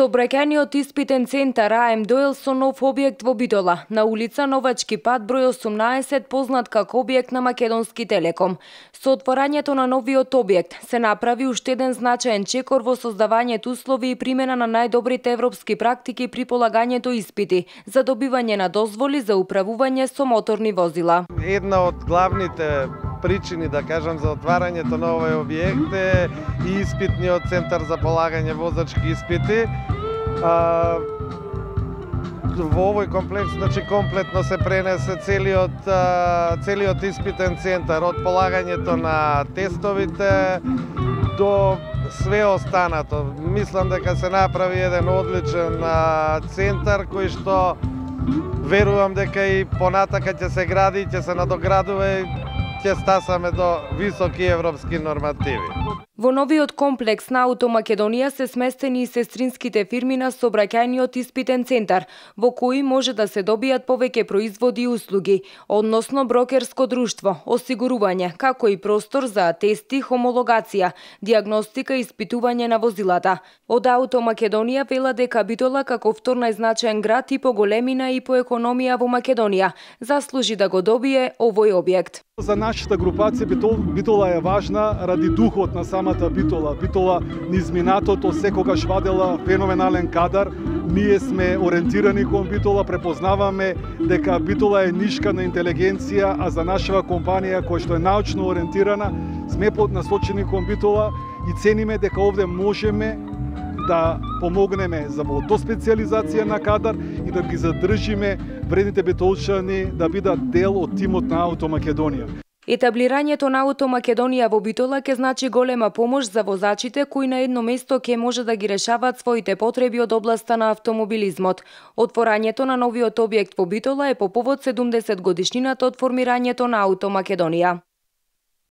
Сообраќајниот испитен центар АМ Доел со нов објект во Битола, на улица Новачки пат број 18, познат како објект на Македонски Телеком. Со отворањето на новиот објект се направи уште еден значаен чекор во создавањето услови и примена на најдобрите европски практики при полагањето испити за добивање на дозволи за управување со моторни возила. Една од главните причини, да кажам, за отварањето на овој објект е и испитниот центар за полагање возачки испити. Во овој комплекс, значи комплетно се пренесе целиот испитен центар, од полагањето на тестовите до све останато. Мислам дека се направи еден одличен центар кој што верувам дека и понатака ќе се гради, ќе се надоградува и ќе стасаме до високи европски нормативи. Во новиот комплекс на Ауто Македонија се сместени и сестринските фирми на сообраќајниот испитен центар, во кои може да се добијат повеќе производи и услуги, односно брокерско друштво, осигурување, како и простор за атести, хомологација, дијагностика и испитување на возилата. Од Ауто Македонија вела дека Битола како втор најзначаен град и по големина и по економија во Македонија заслужи да го добие овој објект. За нашата групација Битола е важна ради духот на самата Битола. Битола низ минатото секогаш вадела феноменален кадар. Ние сме ориентирани кон Битола, препознаваме дека Битола е нишка на интелигенција, а за нашава компанија која што е научно ориентирана, сме насочени кон Битола и цениме дека овде можеме да помогнеме за специализација на кадар и да ги задржиме вредните битолчани да бидат дел од тимот на Ауто Македонија. Етаблирањето на Ауто Македонија во Битола ќе значи голема помош за возачите кои на едно место ќе може да ги решаваат своите потреби од областа на автомобилизмот. Отворањето на новиот објект во Битола е по повод 70 годишнината од формирањето на Ауто Македонија.